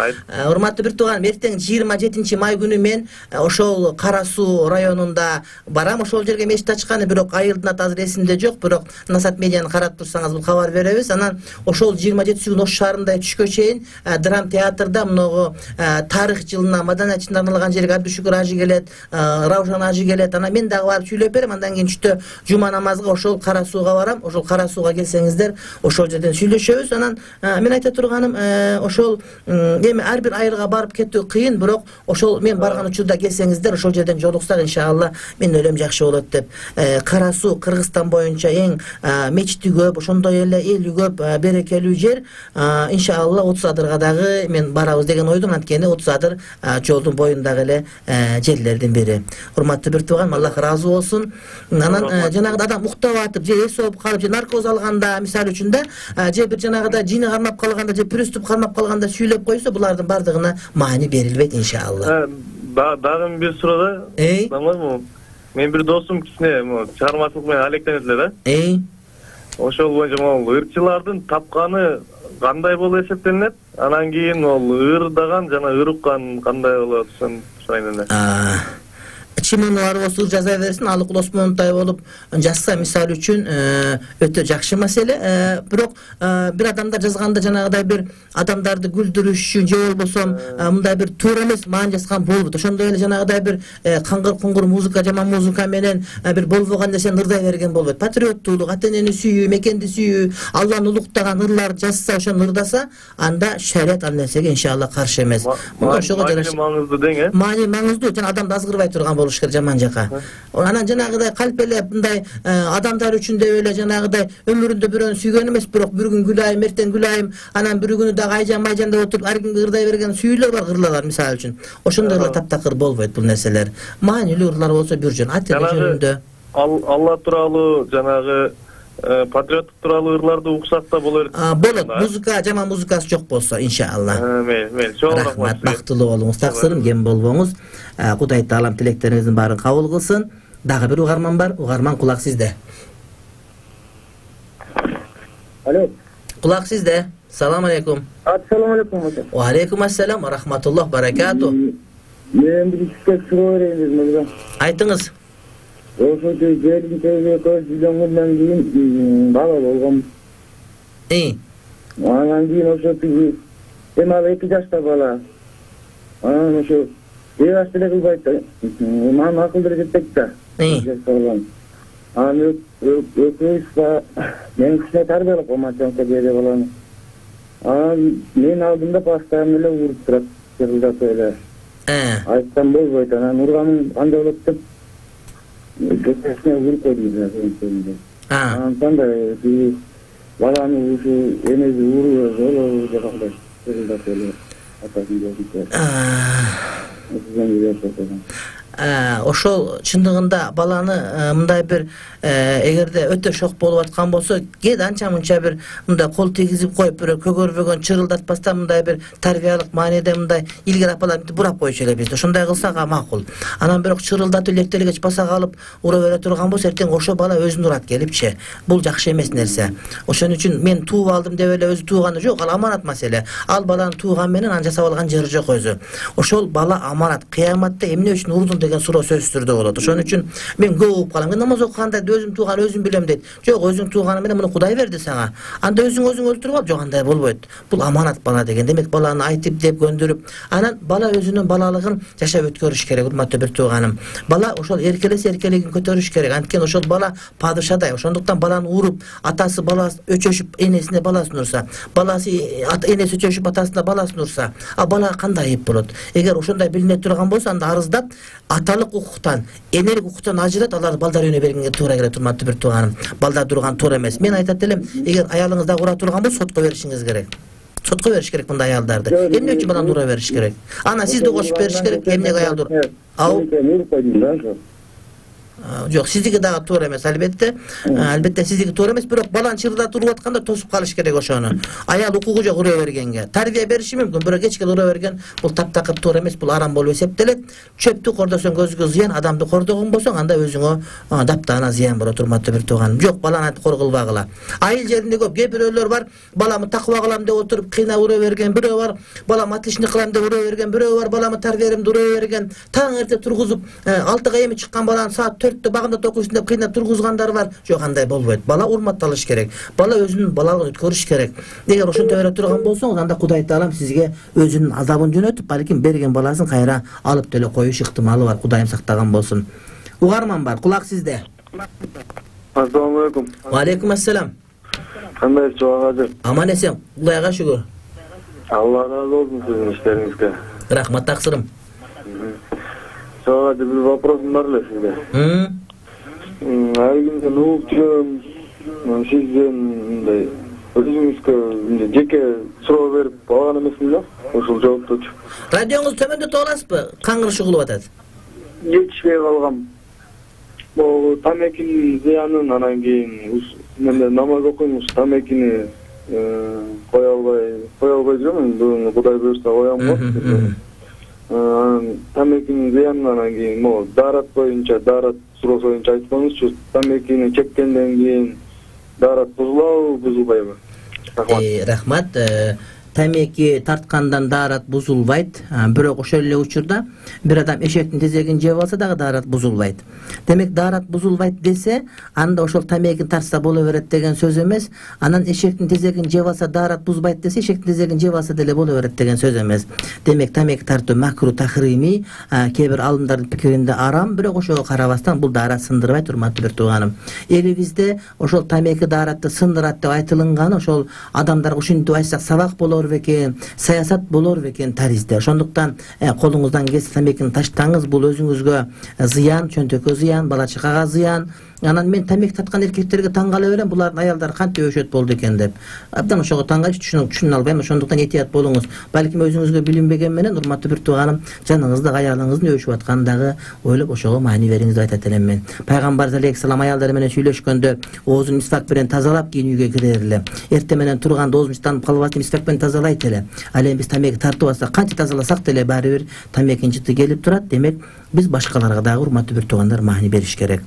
Урматтуу бир тууганым, эртең жыйырма жетинчи май күнү мен ошол Кара Суу районунда барам. Ошол жерге мечит ачканы, бирок айылдын аты азыр эсимде жок, бирок Насат медианы карап турсаңыз бул кабар беребиз. Анан ошол жыйырма жетинчи күнү Ош шаарында түшкө чейин драм театрда мыногу тарых жылына, маданият жылына арналган жерге Абдушукур ажы келет, Раушан ажы келет. Анан мен дагы барып сүйлөп берем. Андан кийин түштө жума намазга ошол Кара Сууга барам. Ошол Кара Сууга келсеңиздер, ошол жерден сүйлөшөбүз. Анан мен айта турганым, ошол эми ар бир айылга барып кетүү кыйын, бирок ошол мен барган учурда келсеңиздер, ошол жерден жолуксак иншалла мен ойлойм жакшы болот деп. Кара Суу Кыргызстан боюнча эң мечити көп, ошондой эле эли көп, берекелүү жер. Иншалла Отсадырга дагы мен барабыз деген ойдум, анткени Отсадыр жолдун боюндагы эле жерлердин бири. Урматтуу бир тууган, Аллах ыраазы болсун. Анан жанагы адам уктап атып, же эс алып калып, же наркоз алганда, мисалы үчүн да, же бир жанагыда жини кармап калганда, же приступ кармап калганда сүйлөп койсо, булардын бардыгына маани берилбейт иншалла. Дагы бир суроо да. Мен бир досум кичине чыгармачылык менен алектенет эле да. Эй. Ошол боюнча могул ырчылардын тапканы кандай болуп эсептелинет? Анан кийин ол ырдаган жана ыруккан кандай болот, ошон сурайын эле. Чимону бар болсо жаза берсин, Алык Осмоновтай болуп жазса мисалы үчүн өтө жакшы маселе. Бирок бир адамдар жазганда жанагыдай бир адамдарды күлдүрүш үчүн же болбосо мындай бир туура эмес маани жазган болбойт. Ошондой эле жанагыдай бир каңгыр-куңгур музыка, жаман музыка менен бир болбогон нерсени ырдай берген болбойт. Патриоттуулук, ата-энени сүйүү, мекенди сүйүү, Алланы улуктаган ырлар жазса, ошону ырдаса, анда шарият ал нерсеге иншалла каршы эмес. Ошого жараша. Маани маңыздуу дең, э? Маани маңыздуу, жана адамды азгырбай турган болуш керек жаман жака. Анан жанагыдай калпелеп мындай адамдар үчүн деп эле жанагыдай өмүрүндө бирөөнү сүйгөн эмес, бирок бир күн күлайым, эртең күлайым, анан бир күнү дагы айжан майжан деп отуруп ар кимге ырдай берген сүйүүлөр бар, ырлар мисалы үчүн. Ошондой эле таптакыр болбойт бул нерселер. Маанилүү ырлар болсо бир жөн, ат жөнүндө. Алла тууралуу жанагы патриоттук тууралуу ырларды уксак да болор. Болот. Музыка, жаман музыкасы жок болсо иншалла. Мейли, мейли. Чоң рахмат. Бактылуу болуңуз, таксырым кем болбоңуз. Кудай таалам тилектериңиздин баарын кабыл кылсын. Дагы бир угарман бар. Угарман, кулак сизде. Алло. Кулак сизде. Салам алейкум. Ассаламу алейкум. Ва алейкум ассалам ва рахматуллах баракату. Мен бир ишке суроо берейин мырза. Айтыңыз. Ошо жердин тегине көз үйдөнгөндөн кийин бала болгом. И. Анан кийин ошо тиги эми ал эки жашта бала. Анан ошо эбаш деле кылбайт. Мага акылдуу жетпейт да. И. Анан өкүбүз мен кичине тарбиялап коймачамка деди баланы. Анан мен алдымда постоянно эле уруп турат, жырылдап эле. Айтсам болбойт, анан урганым кандай болот деп көчөсүнө уруп койдум. Анан кандай баланы ушу энеси уруп болобу деп кандай жырылдап эле атасын деп. Ошол чындыгында баланы мындай бир эгерде өтө шок болуп аткан болсо, кээде анча мынча бир мындай кол тийгизип коюп, бирөө көгөрбөгөн чырылдатпастан мындай бир тарбиялык мааниде мындай илгери апалар мынтип бурап койчу элебиз. Ошондой кылсак макул. Анан бирок чырылдатып лектелгеч баса калып ура бере турган болсо, эртең ошо бала өзүн урат келипчи. Бул жакшы эмес нерсе. Ошон үчүн мен тууп алдым деп эле өзү тууганы жок, ал аманат маселе. Ал баланы тууган менен аны жасап алган жери жок өзү. Ошол бала аманат. Кыяматта эмне үчүн урдун деген суроо сөзсүз түрдө болот. Ошон үчүн мен көп угуп калам. Мен намаз окуганда өзүм тууган өзүм билем дейт. Жок, өзүң тууганы менен муну Кудай берди сага. Анда өзүң өзүң өлтүрүп ал, жок андай болбойт. Бул аманат бала деген. Демек баланы айтып деп көндүрүп, анан бала өзүнүн балалыгын жашап өткөрүш керек, урматтуу бир тууганым. Бала ошол эркелесе эркелигин көтөрүш керек. Анткени ошол бала падышадай. Ошондуктан баланы уруп, атасы баласы өчөшүп энесине баласын урса, баласы энеси өчөшүп атасына баласын урса, а балага кандай айып болот? Эгер ошондой билине турган болсо, анда арыздап аталык укуктан, энелик укуктан ажырат, алар балдар үйүнө бергенге туура келет, урматтуу бир тууганым. Балдар турган туура эмес. Мен айтат элем, эгер аялыңыз да ура турган болсо, сотко беришиңиз керек. Сотко бериш керек мындай аялдарды. Эмне үчүн баланы ура бериш керек? Анан сизди кошуп бериш керек, эмнеге аялды? Ау. Жок, сиздики дагы туура эмес, албетте. Албетте сиздики туура эмес, бирок баланы чырылдатып уруп атканда тосуп калыш керек ошону. Аял укугу жок ура бергенге. Тарбия бериши мүмкүн, бирок кечке ура берген бул таптакыр туура эмес, бул арам болуп эсептелет. Чөптү кордосоң көзгө зыян, адамды кордогон болсоң, анда өзүңө даптана зыян болот, урматтуу бир тууганым. Жок, баланы кор кылбагыла. Айыл жеринде көп кээ бирөөлөр бар, баламы такыба кылам деп отуруп кыйнап ура берген, бирөө бар, балам отличник кылам деп ура берген, бирөө бар, баламы тарбиялеп ура берген. Таң эрте тургузуп, алтыга эми чыккан баланы саат төрттө багында токуйсун деп кыйнап тургузгандар бар. Жок, андай болбойт. Бала урматталыш керек. Бала өзүнүн балалыгын өткөрүш керек. Эгер ошентип бере турган болсоңуз, анда Кудай Таалам сизге өзүнүн азабын жөнөтүп, балким берген баласын кайра алып деле коюш ыктымалы бар. Кудайым сактаган болсун. Угарман бар, кулак сизде. Ассаламу алейкум. Ва алейкум ассалам. Кандай чоң? Аман эсен, Кудайга шүгүр. Алла разы болсун сиздин иштериңизге. Рахмат, таксырым. Чоң, бир вопросум бар эле сизге. Ар күндө угуп жүрөм, сизден мындай өзүңүзгө жеке суроо берип алган эмесмин да, ушул жооптучу. Радионуңузду төмөндөтүп аласызбы? Каңгырышы кылып атат. Жетишпей калгам. Бул тамекинин зыянын, анан кийин мен намаз окуйм, тамекини кое албай, кое албай жүрөм, бүгүн Кудай буйрса коям го. Тамекинин зыянын, анан кийин могу даарат боюнча, даарат суроо боюнча айтпаңызчы, тамекини чеккенден кийин даарат бузулабы, бузулбайбы? Рахмат. Тамеки тарткандан даарат бузулбайт, бирок ошол эле учурда бир адам эшектин тезегин жеп алса дагы даарат бузулбайт. Демек даарат бузулбайт десе, анда ошол тамекин тартса боло берет деген сөз эмес. Анан эшектин тезегин жеп алса даарат бузбайт десе, эшектин тезегин жеп алса деле боло берет деген сөз эмес. Демек тамеки тартуу макру тахрими, кээ бир алымдардын пикиринде арам, бирок ошого карабастан бул даарат сындырбайт, урматтуу бир тууганым. Элибизде ошол тамеки дааратты сындырат деп айтылган, ошол адамдарга ушинтип айтсак сабак болор бекен, саясат болор бекен таризде. Ошондуктан колуңуздан келсе тамекини таштаңыз, бул өзүңүзгө зыян, чөнтөккө зыян, бала чакага зыян. Анан мен тамеки тарткан эркектерге таң кала берем, булардын аялдары кантип өшөт болду экен деп. Абдан ошого таң калып түшүнө албайм. Ошондуктан этият болуңуз. Балким өзүңүзгө билинбеген менен, урматтуу бир тууганым, жаныңызда аялыңыздын өшүп аткандагы ойлоп ошого маани бериңиз деп айтат элем мен. Пайгамбар алейхиссалам аялдары менен сүйлөшкөндө оозун мисвак менен тазалап кийин үйгө кирер эле. Эрте менен турганда оозун таанып калбасын мисвак менен тазалайт эле. Ал эми биз тамеки тартып алсак, канча тазаласак деле баары бир тамекинин жыты келип турат. Демек биз башкаларга дагы, урматтуу бир туугандар, маани бериш керек.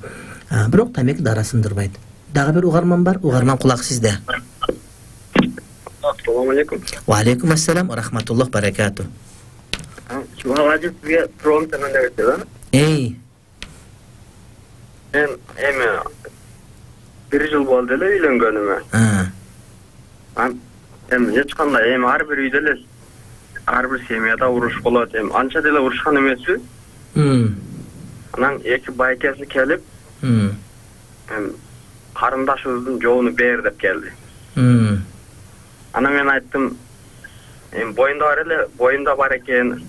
Бирок тамеки дара сындырбайт. Дагы бир угарман бар, угарман, кулак сизде. Assalamu alaikum. Wa alaikum assalam wa rahmatullah barakatuh. Чуга ажып сизге суроом таганда берсе. Эй. Мен эми бир жыл болду эле үйлөнгөнүмө. А. Эми эч кандай эми ар бир үйдө эле ар бир семьяда уруш болот. Эми анча деле урушкан эмеспи. Мм. Анан эки байкеси келип, Мм. эми карындашыбыздын жообуну бер деп келди. Мм. Анан мен айттым, эми боюнда бар эле, боюнда бар экен.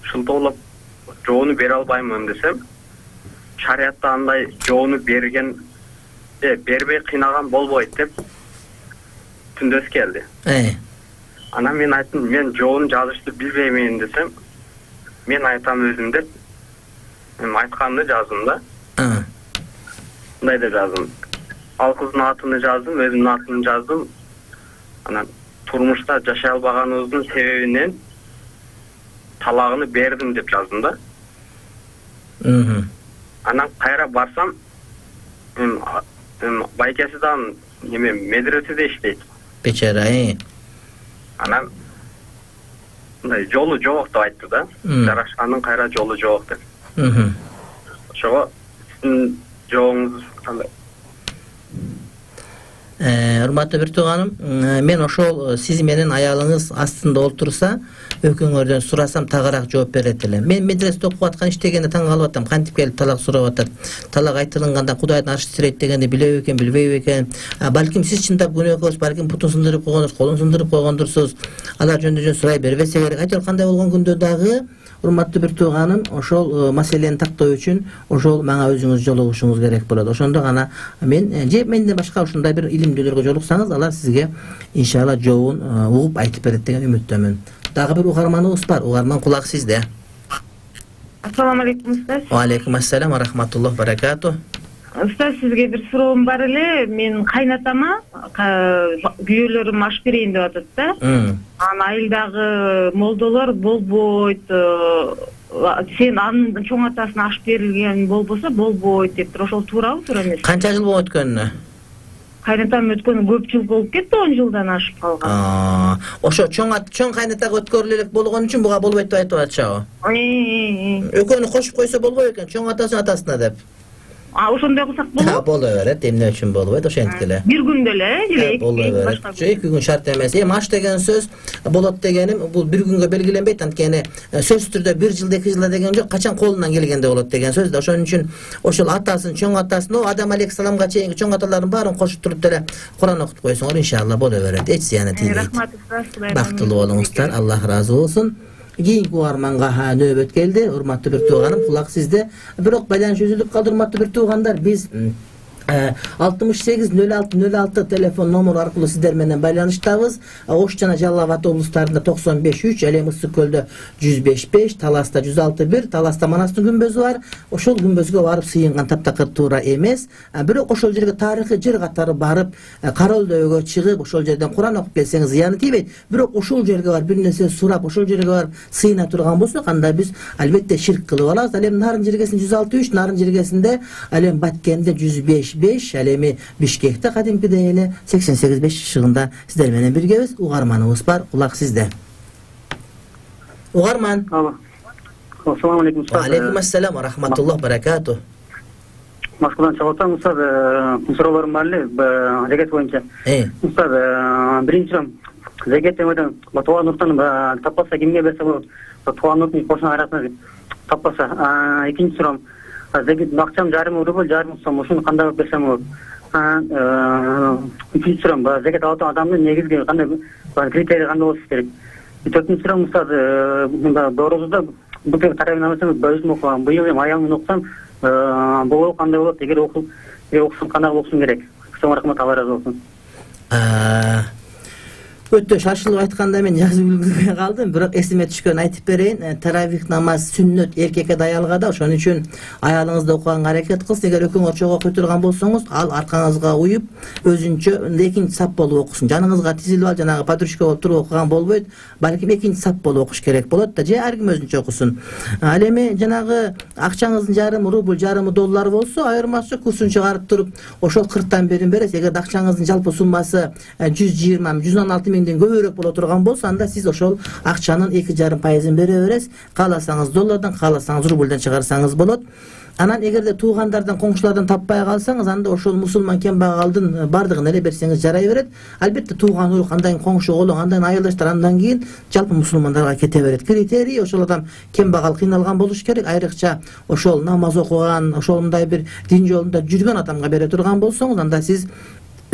Шылтоолоп жообуну бере албаймын десем, шариятта андай жообуну берген, э, бербей кыйнаган болбойт деп түндөс келди. Э. Анан мен айттым, мен жообун жазышты билбеймин десем, мен айтам өзүм деп, эми айтканды жаздым да. А. Мындай деп жаздым. Ал кыздын атын жаздым, өзүмдүн атымды жаздым. Анан турмушта жашай албаганыбыздын себебинен талагын бердим деп жаздым да. Мм. Анан кайра барсам, эми байкесидан эме медреседе иштейт. Бечара, э. Анан мындай жолу жок деп айтты да. Жарашкандын кайра жолу жок деп. Мм. Ошого сиздин жообуңуз кандай? Урматтуу бир тууганым, мен ошол сиз менен аялыңыз астында олтурса, экөөңөрдөн сурасам тагыраак жооп берет элем. Мен медреседе окуп аткан иштегенде таң калып атам, кантип келип талак сурап атат. Талак айтылганда Кудайдын аршы тирейт дегенди билеби экен, билбейби экен. Балким сиз чындап күнөөкөз, балким бутун сындырып койгондурсуз, колун сындырып койгондурсуз. Алар жөнүндө жөн сурай бербесе керек. Айтор кандай болгон күндө дагы урматтуу бир тууганым, ошол маселени тактоо үчүн ошол мага өзүңүз жолугушуңуз керек болот. Ошондо гана мен же менден башка ушундай бир илимдүүлөргө жолуксаңыз, алар сизге иншалла жообун угуп айтып берет деген үмүттөмүн. Дагы бир угарманыбыз бар. Угарман, кулак сизде. Ассаламу алейкум устаз. Ва алейкум ассалам ва рахматуллах баракату. Устаз, сизге бир суроом бар эле. Мен кайнатама күйөөлөрүм аш берейин деп атат да. Анан айылдагы молдолор болбойт, сен анын чоң атасына аш берилген болбосо болбойт деп тур. Ошол туурабы, туура эмеспи? Канча жыл болуп өткөнүнө? Кайнатам өткөнү көп жыл болуп кетти, он жылдан ашып калган. Ошо чоң ат, чоң кайнатага өткөрүлө элек болгон үчүн буга болбойт деп айтып атышабы? Экөөнү кошуп койсо болбойт экен, чоң атасын атасына деп. А ошондой кылсак болобу? Боло берет, эмне үчүн болбойт, ошентип эле. Бир күндө эле, эле эки күн шарт эмес. Эми аш деген сөз болот дегеним, бул бир күнгө белгиленбейт, анткени сөзсүз түрдө бир жылда, эки жылда деген жок, качан колунан келгенде болот деген сөз да. Ошон үчүн ошол атасын, чоң атасын, Адам алейхиссаламга чейинки чоң аталарын баарын кошуп туруп деле Куран окутуп койсоңор, иншалла боло берет. Эч зыяны тийбейт. Рахмат устаз, бактылуу болуңуздар, Аллах ыраазы болсун. Кийинки угарманга нөөбөт келди. Урматтуу бир тууганым, кулак сизде. Бирок байланыш үзүлүп калды, урматтуу бир туугандар. Биз алтымыш сегиз нөл алты нөл алты телефон номеру аркылуу сиздер менен байланыштабыз. Ош жана Жалал Абад облустарында токсон беш үч, ал эми Ысык көлдө жүз беш беш, Таласта жүз алты бир, Таласта Манастын күмбөзү бар. Ошол күмбөзгө барып сыйынган таптакыр туура эмес. Бирок ошол жерге тарыхый жер катары барып, Каролдөөгө чыгып, ошол жерден Куран окуп келсеңиз зыяны тийбейт. Бирок ошол жерге барып бир нерсе сурап, ошол жерге барып сыйына турган болсок, анда биз албетте ширк кылып алабыз. Ал эми Нарын жергесинде жүз алты үч, Нарын жергесинде, ал эми Баткенде жүз беш беш, ал эми Бишкекте кадимкидей эле сексен сегиз беш чыгында сиздер менен биргебиз. Угарманыбыз бар, кулак сизде. Угарман. Ассаламу алейкум устаз. Ва алейкум ассалам ва рахматуллах баракату. Москвадан чыгып атам, устаз, суроолорум бар эле, зекет боюнча. Устаз, биринчиден зекет эмеден тууган уртан таппаса кимге берсе болот? Тууган уртун кошуна айрасына таппаса. Экинчи суроом, зекет акчам жарым рубль, жарым сом, ушуну кандай кылып берсем болот? Үчүнчү суроом, зекет алып аткан адамдын негизги кандай критерий кандай болуш керек? Төртүнчү суроом, устаз, доорозуда бутек тарабынан алсаңыз, өзүм окугам, быйыл эми аялымын окусам, болобу кандай болот? Эгер окусам кандай окушум керек? Чоң рахмат, Алла ыраазы болсун. Өтө шашылып айтканда мен жазып үлгүрбөй калдым, бирок эсиме түшкөн айтып берейин. Таравих намаз сүннөт эркекке да аялга да, ошон үчүн аялыңызды окуганга аракет кылсын. Эгер экөөңөр чогуу окуй турган болсоңуз, ал аркаңызга уюп, өзүнчө экинчи сап болуп окусун. Жаныңызга тизилип алып, жанагы подружка болуп туруп окуган болбойт, балким экинчи сап болуп окуш керек болот да, же ар ким өзүнчө окусун. Ал эми жанагы акчаңыздын жарымы рубль, жарымы доллар болсо, айырмасы курсун чыгарып туруп, ошол кырктан бирин бересиз. Эгер акчаңыздын жалпы суммасы жүз жыйырма жүз он алты миң кемден көбүрөөк боло турган болсо анда сиз ошол акчанын эки жарым пайызын бере бересиз. Кааласаңыз доллардан, кааласаңыз рубльдан чыгарсаңыз болот. Анан эгерде туугандардан, коңшулардан таппай калсаңыз, анда ошол мусулман кембагалдын бардыгын эле берсеңиз жарай берет. Албетте тууган урук, андан коңшу колоң, андан айылдаштар, андан кийин жалпы мусулмандарга кете берет. Критерий ошол адам кембагал, кыйналган болуш керек. Айрыкча ошол намаз окуган, ошол мындай бир дин жолунда жүргөн адамга бере турган болсоңуз, анда сиз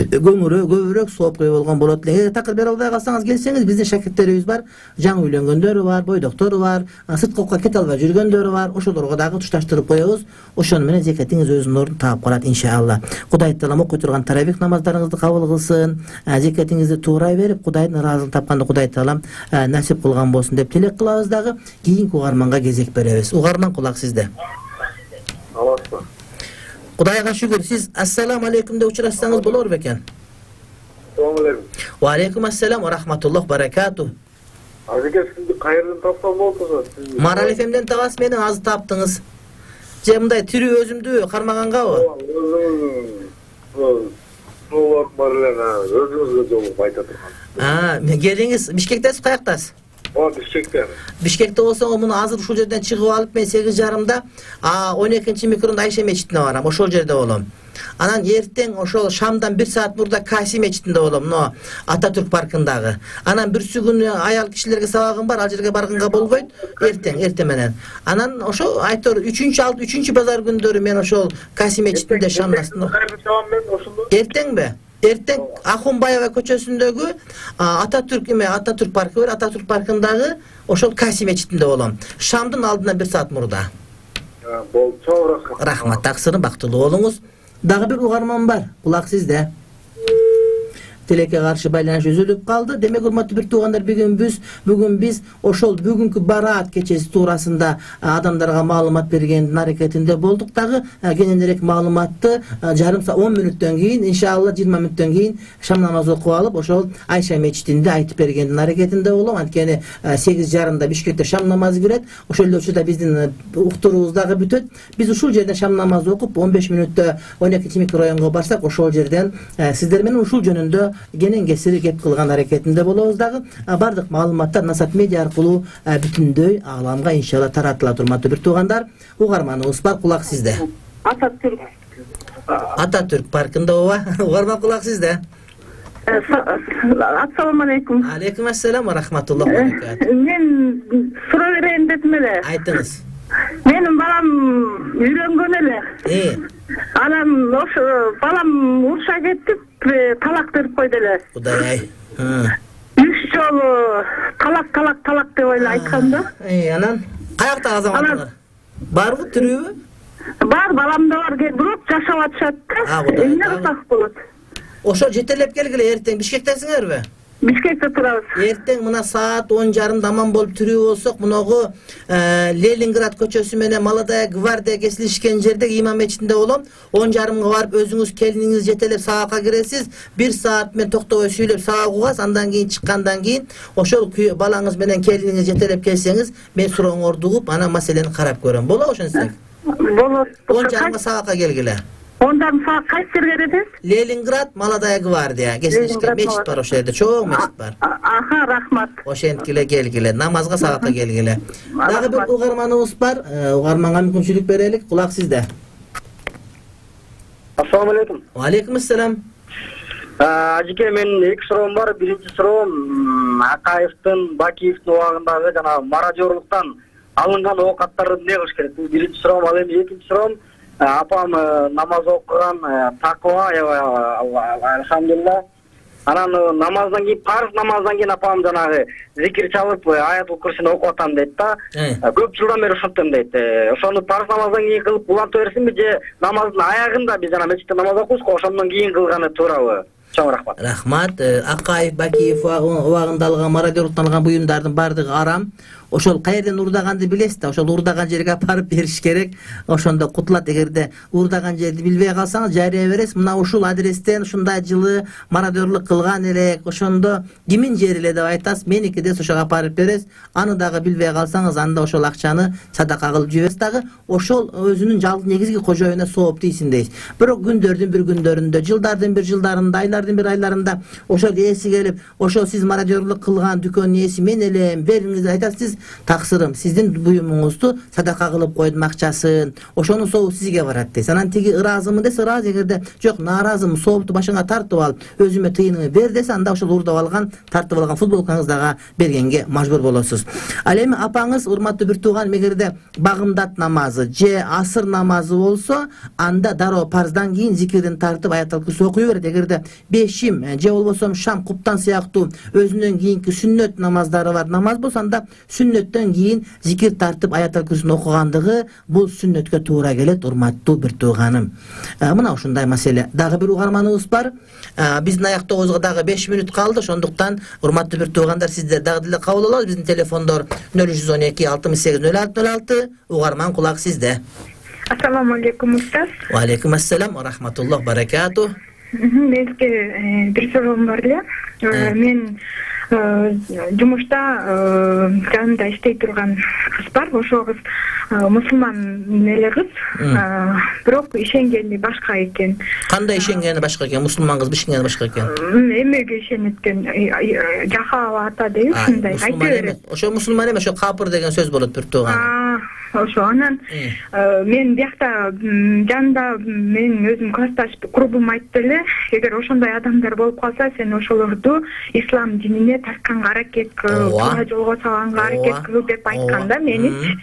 көңүрө көбүрөөк соопкой болгон болот эле. Эгер такыр бере албай калсаңыз, келсеңиз, биздин шакирттерибиз бар, жаңы үйлөнгөндөрү бар, бойдоктору бар, сырткы окууга кете албай жүргөндөрү бар. Ошолорго дагы тушташтырып коебуз. Ошону менен зекетиңиз өзүнүн ордун таап калат иншалла. Кудай таалам окуй турган таравих намаздарыңызды кабыл кылсын, зекетиңизди туура берип, Кудайдын ыраазылыгын тапканды Кудай таалам насип кылган болсун деп тилек кылабыз дагы. Кийинки угарманга кезек беребиз. Угарман, кулак сизде. Аласызбы? Кудайга шүгүр. Сиз ассаламу алейкум деп учурашсаңыз болор бекен. Assalamu alaikum. Wa alaikum assalam wa rahmatullohi barakatuh. Азеке, сизди кайерден тапсам болот? Марал эф эмден табасыз, менен азыр таптыңыз. Же мындай тирүү өзүмдү кармагангабы? Сулап бар эле, өзүңүзгө жолугуп айта турган. А, келиңиз, Бишкектесиз, каяктасыз? О, Бишкекте. Бишкекте болсоң, муну азыр ушул жерден чыгып алып, мен сегиз жарымда он экинчи микронда Айша мечитине барам, ошол жерде болом. Анан эртең ошол Шамдан бир саат мурда Каси мечитинде болом, но Ататүрк паркындагы. Анан бирсү күнү аял кишилерге сабагым бар, ал жерге барганга болбойт, эртең, эртең менен. Анан ошол айтор үчүнчү алты үчүнчү базар күндөрү мен ошол Каси мечитинде Шамдасында. Эртеңби? Эртең Ахунбаева көчөсүндөгү Ататүрк эме Ататүрк паркы бар, Ататүрк паркындагы ошол Каси мечитинде болом. Шамдын алдынан бир саат мурда. Болду, чоң рахмат. Рахмат, таксырын бактылуу болуңуз. Дагы бир угарман бар. Кулак сизде. Телекке каршы байланыш үзүлүп калды. Демек, урматтуу бир туугандар, бүгүн биз бүгүн биз ошол бүгүнкү бараат кечеси туурасында адамдарга маалымат бергендин аракетинде болдук. Дагы кененирээк маалыматты жарым саат он мүнөттөн кийин, иншалла жыйырма мүнөттөн кийин шам намазы окуп алып, ошол Айша мечитинде айтып бергендин аракетинде болом. Анткени сегиз жарымда Бишкекте шам намазы кирет. Ошол эле учурда биздин уктуруубуз дагы бүтөт. Биз ушул жерден шам намазы окуп, он беш мүнөттө он экинчи микрорайонго барсак, ошол жерден сиздер менен ушул жөнүндө кенен кесири кеп кылган аракетинде болобуз дагы. Бардык маалыматтар Насат медиа аркылуу бүтүндөй ааламга иншалла таратылат. Урматтуу бир туугандар, угарманыбыз бар, кулак сизде. Ататүрк. Ататүрк паркында ооба. Угарман, кулак сизде. Ассаламу алейкум. Алейкум ассалам ва рахматуллахи ва баракатуh. Мен суроо берейин дедим эле. Айтыңыз. Менин балам үйрөнгөн эле. Э. Анан ошо балам уруша кетип, талак берип койду эле. Кудай ай. Үч жолу талак, талак, талак деп эле айткан да. Э, анан каякта азаматтар? Барбы, тирүүбү? Бар, балам да бар, бирок жашап атышат да. Эмне кылсак болот? Ошо жетелеп келгиле, эртең Бишкектесиңерби? Бишкекте турабыз. Эртең мына саат он жарымда аман болуп тирүү болсок, муногу Ленинград көчөсү менен Молодая гвардия кесилишкен жерде имам мечитинде болом. он жарымга барып өзүңүз келиниңиз жетелеп сабакка киресиз. бир саат мен токтобой сүйлөп сабак угасыз. Андан кийин чыккандан кийин ошол балаңыз менен келиниңиз жетелеп келсеңиз, мен сурооңорду угуп, анан маселени карап көрөм. Болобу ошентсек? Болот. он жарымга сабакка келгиле. он жарым саат кайсы жерге кетесиз? Ленинград, Молодая гвардия кесилишкен мечит бар, ошол жерде чоң мечит бар. Аха, рахмат. Ошенткиле келгиле, намазга сабакка келгиле. Дагы бир угарманыбыз бар. Угарманга мүмкүнчүлүк берелик. Кулак сизде. Ассаламу алейкум. Ва алейкум ассалам. Ажеке, мен эки суроом бар. Биринчи суроом Акаевдин, Бакиевдин убагындагы жана мародёрлуктан алынган оокаттарды эмне кылыш керек? Бул биринчи суроом. Ал эми экинчи суроом, апам намаз окуган, таква, алхамдулилла. Анан намаздан кийин, парыз намаздан кийин апам жанагы зикир чалып, аятул курсини окуп атам дейт да. Көп жылдан бери ушинтем дейт. Ошону парыз намаздан кийин кылып уланта берсинби же намаздын аягында биз жана мечитте намаз окуйбуз, ошондон кийин кылганы туурабы? Чоң рахмат. Рахмат. Акаев, Бакиев убагында алган мародёрлуктан алган буюмдардын бардыгы арам. ошол каерден уурдаганды билесиз да, ошол уурдаган жерге апарып бериш керек. Ошондо кутулат. Эгерде уурдаган жерди билбей калсаңыз жарыя бересиз. Мына ушул адрестен ушундай жылы мародерлук кылган элек, ошондо кимин жери эле деп айтасыз. Меники десе ошого апарып бересиз. Аны дагы билбей калсаңыз, анда ошол акчаны садака кылып жибересиз дагы. Ошол өзүнүн жалгыз негизги кожоюна сооп тийсин дейсиз. Бирок күндөрдүн бир күндөрүндө, жылдардын бир жылдарында, айлардын бир айларында ошол ээси келип, ошол сиз мародерлук кылган дүкөндүн ээси мен элем, бериңиз айтасыз, таксырым сиздин буюмуңузду садака кылып койдум акчасын. Ошонун сообу сизге барат дейсиз. Анан тиги ыраазымын десе ыраазы, эгерде жок нааразымын, соопту башыңа тартып алып, өзүмө тыйынымы бер десе, анда ошол уурдап алган, тартып алган футболкаңыздага бергенге мажбур болосуз. Ал эми апаңыз, урматтуу бир тууган, эгерде багымдат намазы же асыр намазы болсо, анда дароо парздан кийин зикирдин тартып аятал курси окуй берет. Эгерде бешим же болбосо шам, куптан сыяктуу өзүнөн кийинки сүннөт намаздары бар намаз болсо, анда сүннөттөн кийин зикир тартып аятал курсун окугандыгы бул сүннөткө туура келет, урматтуу бир тууганым. Мына ушундай маселе. Дагы бир угарманыбыз бар. Биздин аяктообузга дагы беш мүнөт калды. Ошондуктан урматтуу бир туугандар, сиздер дагы деле кабыл алабыз. Биздин телефондор нөл үч жүз он эки алтымыш сегиз нөл алты нөл алты. Угарман, кулак сизде. Ассаламу алейкум устаз. Ва алейкум ассалам ва рахматуллах баракату. Менде бир суроом бар эле. Мен жумушта жанымда иштей турган кыз бар. Ошол кыз мусулман эле кыз, бирок ишенгени башка экен. Кандай ишенгени башка экен? Мусулман кыз ишенгени башка экен? Эмеге ишенет экен. Жахава ата дейт, ушундай айта берет. Ошо мусулман эмес, ошо капыр деген сөз болот бир тууган. Ошо анан мен биякта жанында менин өзүм классташ курбум айтты эле, эгер ошондой адамдар болуп калса, сен ошолорду ислам динине тартканга аракет кыл, туура жолго салганга аракет кыл деп айткан да меничи.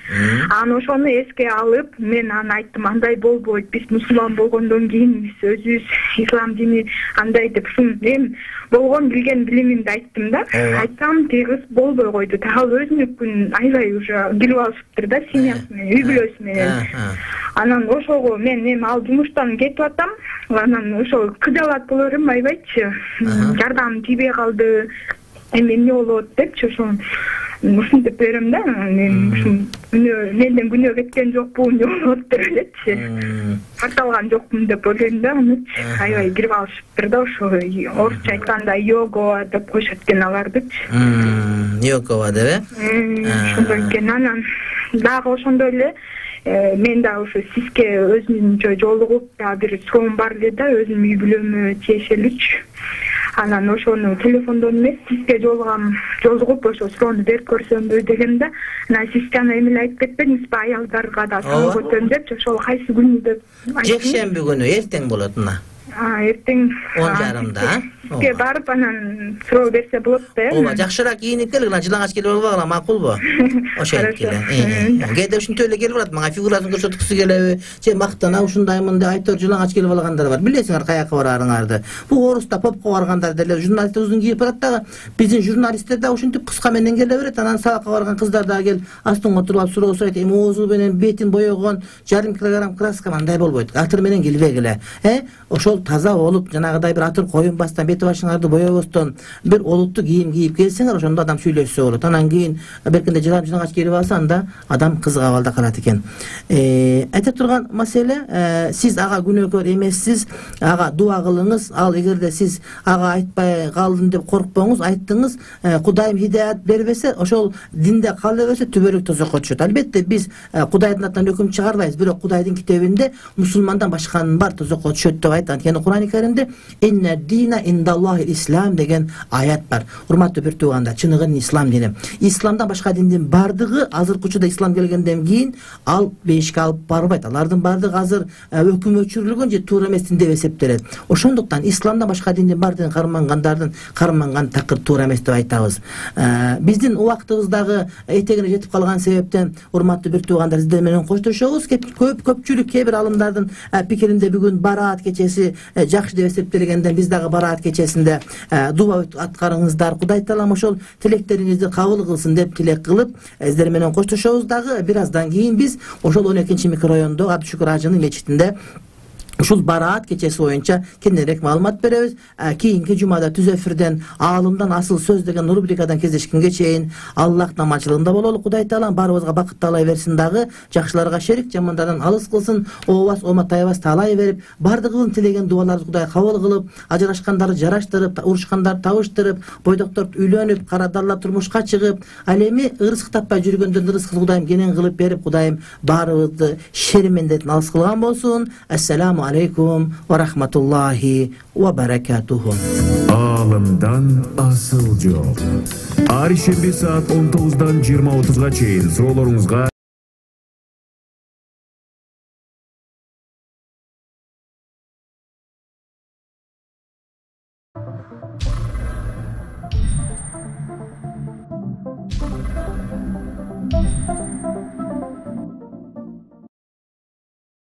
Анан ошону эске алып, мен аны айттым, андай болбойт, биз мусулман болгондон кийин биз өзүбүз ислам дини андай деп, ушун мен болгон билген билимимди айттым да. Айтсам, тиги кыз болбой койду. Ал өзүнүкүн аябай уже билип алышыптыр да, семьясы менен, үй бүлөсү менен. Анан ошого мен эми ал жумуштан кетип атам. Анан ошол кыжалат боло берем, аябайчы. Жардам тийбей калды. Эми эмне болот депчи, ошон ушинтип берем да. Мен ушун менден күнөө кеткен жокпу, эмне болот деп элечи. Карталган жокмун деп ойлойм да. Аябай кирип алышыптыр да, ошо орусча айтканда йога деп коюшат экен алардычы. Йога деп э? Ошондой экен. Анан дагы ошондой эле мен да ошо сизге өзүнчө жолугуп дагы бир суроом бар эле да, өзүмдүн үй бүлөмө тиешелүүчү. Анан ошону телефондон эмес, сизге жолугам, жолугуп ошо суроону берип көрсөмбү дегем да. Анан сиз жана эмне айтып кетпедиңизби, аялдарга да салып өтөм депчи, ошол кайсы күнү деп айттым. Жекшемби күнү, эртең болот мына. Эртең он жарымда. Сизге барып анан суроо берсе болот да. Ооба, жакшыраак кийинип келгиле, жылаңач келип албагыла, макулбу? Ошентип келе. Кээде ушинтип эле келип барат, мага фигурасын көрсөткүсү келеби, же мактана ушундаймын деп айтып жылаңач келип алгандар бар. Билесиңер каяка барарыңарды. Бул Орусда попко баргандар деле журналисттер кийип барат дагы. Биздин журналисттер да ушинтип кыска менен келе берет. Анан сабакка барган кыздар дагы келип астыңга туруп алып суроо сурайт. Эми оозу менен бетин боёгон жарым килограмм краска мындай болбойт. Атыр менен келбегиле. Э? Ошол таза болуп, жанагыдай бир атыр коюнбастан, бети башыңарды боёбостон, бир олуттуу кийим кийип келсеңер, ошондо адам сүйлөшсө болот. Анан кийин беркинде жылам жылаңач келип алса, анда адам кызык абалда калат экен. Айта турган маселе, сиз ага күнөөкөр эмессиз, ага дуа кылыңыз. Ал эгерде сиз ага айтпай калдым деп коркпоңуз, айттыңыз, Кудайым хидаят бербесе, ошол динде кала берсе түбөлүк тозокко түшөт. Албетте биз Кудайдын атынан өкүм чыгарбайбыз, бирок Кудайдын китебинде мусулмандан башканын бар тозокко түшөт деп айтат. Анткени Кур'ан-ы Каримде «Инна дина индаллахи ислам» деген аят бар. Урматтуу бир туугандар, чыныгы ислам дини. Исламдан башка диндин бардыгы азыркы учурда ислам келгенден кийин ал бейишке алып барбайт. Алардын бардыгы азыр өкүм өчүрүлгөн же туура эмес дин деп эсептелет. Ошондуктан исламдан башка диндин бардыгын кармангандардын карманган такыр туура эмес деп айтабыз. Биздин убактыбыздагы этегине жетип калган себептен урматтуу бир туугандар, сиздер менен коштошобуз. Көп көпчүлүк кээ бир алымдардын пикиринде бүгүн бараат кечеси жакшы деп эсептелгенден биз дагы бараат кечесинде дуба аткарыңыздар. Кудай таалам ошол тилектериңизди кабыл кылсын деп тилек кылып, сиздер менен коштошобуз дагы. Бир аздан кийин биз ошол он экинчи микрорайондо Абдышүкүр ажынын мечитинде ушул бараат кечеси боюнча кененирээк маалымат беребиз. Кийинки жумада түз эфирден аалымдан асыл сөз деген рубрикадан кездешкенге чейин Аллах намачылыгында бололу. Кудай Таала баарыбызга бакыт таалай берсин, дагы жакшыларга шерик, жамандардан алыс кылсын. Ообас оматайбас таалай берип, бардыгын тилеген дуаларды Кудай кабыл кылып, ажырашкандарды жараштырып, урушкандарды табыштырып, бойдоктор үйлөнүп, карадалар турмушка чыгып, ал эми ырызык таппай жүргөндөрдүн рызкын Кудайым кенен кылып берип, Кудайым баарыбызды шер мендетин алыс кылган болсун. Ассаламу алейкум ва рахматуллахи ва баракатуху. Аалымдан асыл жол. Ар шемби саат он тогуздан жыйырма отузга чейин суроолоруңузга Thank you.